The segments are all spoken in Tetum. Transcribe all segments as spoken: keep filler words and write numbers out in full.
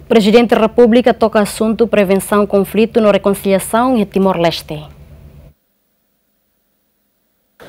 Prezidente Repúblika toka asuntu prevensaun konflitu no rekonsiliasaun iha Timor-Leste.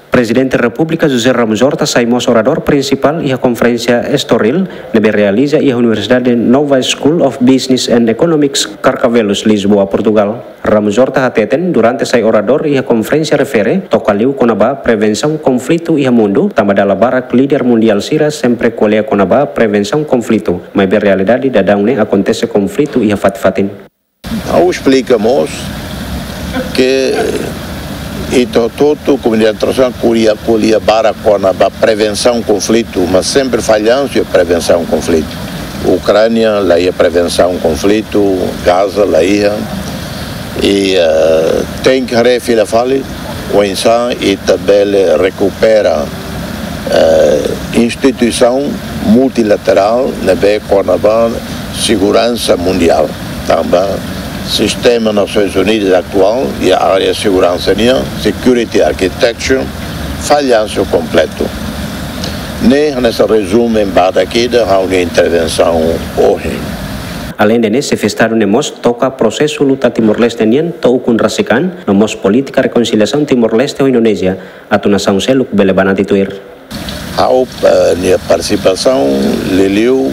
Prezidente Repúblika José Ramos Horta sai mós oradór prinsipál iha konferénsia Estoril ne'ebé realiza iha Universidade Nova School of Business and Economics, Carcavelos, Lisboa, Portugal. Ramos Horta hateten, durante sai oradór iha konferénsia refere, toka liu kona-ba prevensaun konflitu iha mundu, tanba dala barak líder mundiál sira sempre ko'alia kona-ba prevensaun konflitu, maibé realidade daudaun ne'e akontese konflitu iha fatin-fatin. Ha'u esplika mós ke ita hotu-hotu komunidade internasionál ko'alia, ko'alia barak kona-ba prevensaun konflitu, mas sempre fallansu iha prevensaun konflitu. Ukránia la iha prevensaun konflitu, Gaza la iha. I, eh, tenke haree fila fali oinsá ita bele rekupera, eh, instituisaun multilaterál ne'ebé kona-ba seguransa mundiál. Tanba sistema Nasoins Unidas atuál iha área seguransa nian, security architecture, fallansu kompletu. Ne'e hanesan rezumu badak ida ha'u-nia intervensaun ohin. Aleinde ne'e, xefe Estadu ne'e mós toka prosesu luta Timor-Leste nian to'o ukun rasik an, no mós polítika rekonsiliasaun Timor-Leste ho Indonézia, atu nasaun seluk bele banati tuir. Ha'u, eh, nia partisipasaun liuliu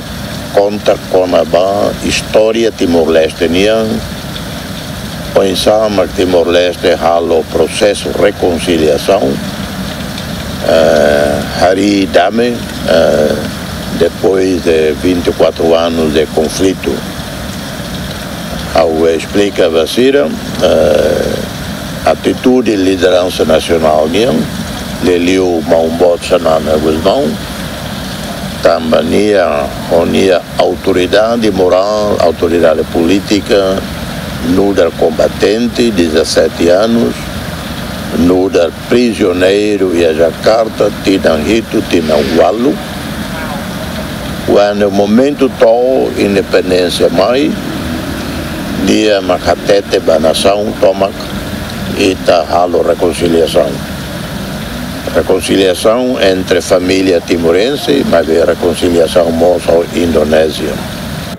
konta kona-ba istória Timor-Leste nian, oinsá mak Timor-Leste halo prosesu rekonsiliasaun, eh, harii dame, eh, depois de vinte e quatro anos de conflito. Ha'u esplika ba sira, eh, atitude lideransa nasionál nian, liuliu Maun Boot Xanana Gusmão, tanba nia, ho nia autoridade morál, autoridade polítika, nu'udar kombatente, dezassete anos, nu'udar prizioneiru iha Jakarta, tinan hitu, tinan ualu. Kuandu momentu to'o independénsia mai, nia mak hatete ba nasaun tomak ita halo rekonsiliasaun. Rekonsiliasaun entre família timorense, maibé rekonsiliasaun mós ho Indonézia.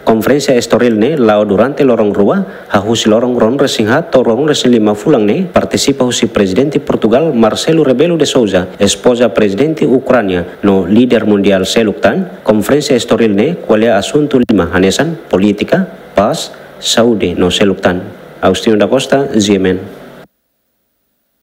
Konferénsia Estoril ne'e la'o durante loron rua, hahú husi loron ruanulu-resin-haat to'o ruanulu-resin-lima fulan ne'e, partisipa husi Prezidente Portugál Marcelo Rebelo de Sousa, espoza Prezidente Ukránia, no líder mundiál seluk tan. Konferénsia Estoril ne'e ko'alia asuntu lima hanesan polítika, pás, saúde no seluk tan. Agostinho da Costa, G M N.